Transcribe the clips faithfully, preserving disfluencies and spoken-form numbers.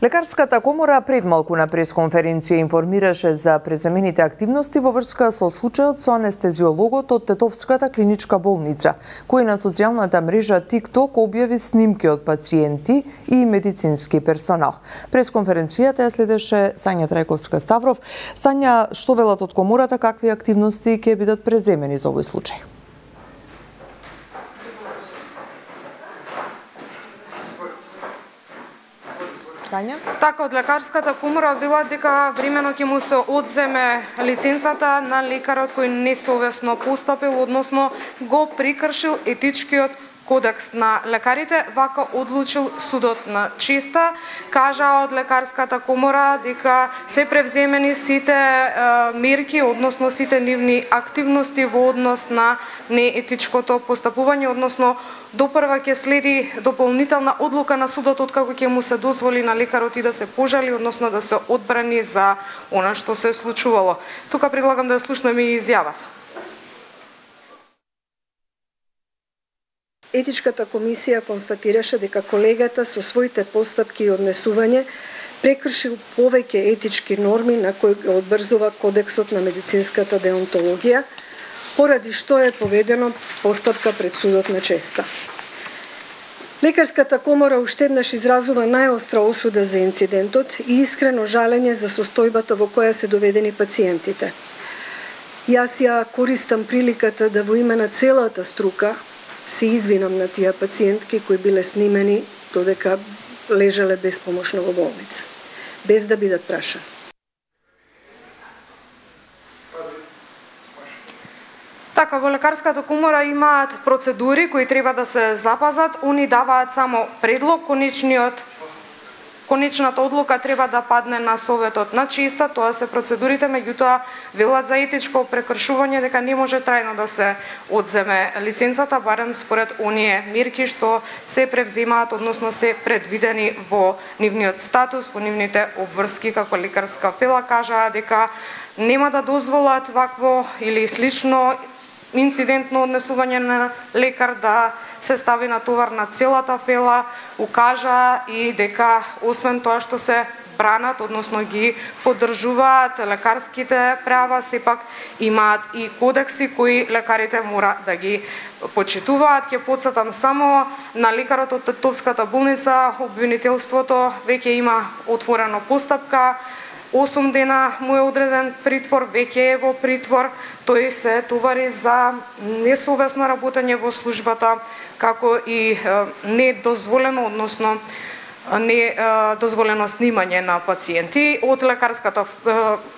Лекарската комора пред малку на пресконференција информираше за преземените активности во врска со случајот со анестезиологот од Тетовската клиничка болница, кој на социјалната мрежа TikTok објави снимки од пациенти и медицински персонал. Пресконференцијата ја следеше Сања Трајковска-Ставров. Сања, што велат од комората, какви активности ќе бидат преземени за овој случај? Сања? Така, од лекарската комора велат дека времено ќе му се одземе лиценцата на лекарот кој несовесно постапил, односно го прекршил етичкиот кодекс на лекарите. Вака одлучил судот на Честа. Кажа од лекарската комора дека се превземени сите е, мерки, односно сите нивни активности во однос на неетичкото постапување, односно допрва ќе следи дополнителна одлука на судот откако ќе му се дозволи на лекарот и да се пожали, односно да се одбрани за она што се случувало. Тука предлагам да слушнеме и изјавата. Етичката комисија констатираше дека колегата со своите постапки и однесување прекршил повеќе етички норми на кои го одбрзува Кодексот на медицинската деонтологија, поради што е поведено постапка пред судот на Честа. Лекарската комора уште еднаш изразува најостра осуда за инцидентот и искрено жалење за состојбата во која се доведени пациентите. Јас ја користам приликата да во име на целата струка се извинам на тие пациентки кои биле снимени додека лежале безпомошно во болница, без да бидат прашани. Така, во лекарската комора имаат процедури кои треба да се запазат. Они даваат само предлог, конечниот Конечната одлука треба да падне на советот на Честа, тоа се процедурите, меѓутоа велат за етичко прекршување дека не може трајно да се одземе лиценцата, барем според оние мерки што се превземаат, односно се предвидени во нивниот статус, во нивните обврски, како лекарска фела кажаа дека нема да дозволат вакво или слично инцидентно однесување на лекар да се стави на товар на целата фела. Укажа и дека освен тоа што се бранат, односно ги поддржуваат лекарските права, сепак имаат и кодекси кои лекарите мора да ги почитуваат. Ќе потсетам само на лекарот од Тетовската болница, обвинителството веќе има отворено постапка. осум дена му е одреден притвор, веќе е во притвор. Тој се товари за несовесно работење во службата, како и недозволено, односно не дозволено снимање на пациенти. Од лекарската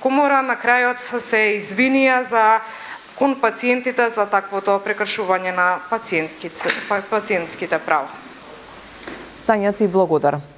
комора на крајот се извинија за кон пациентите за таквото прекршување на пациентските права. Сања, ти благодарам.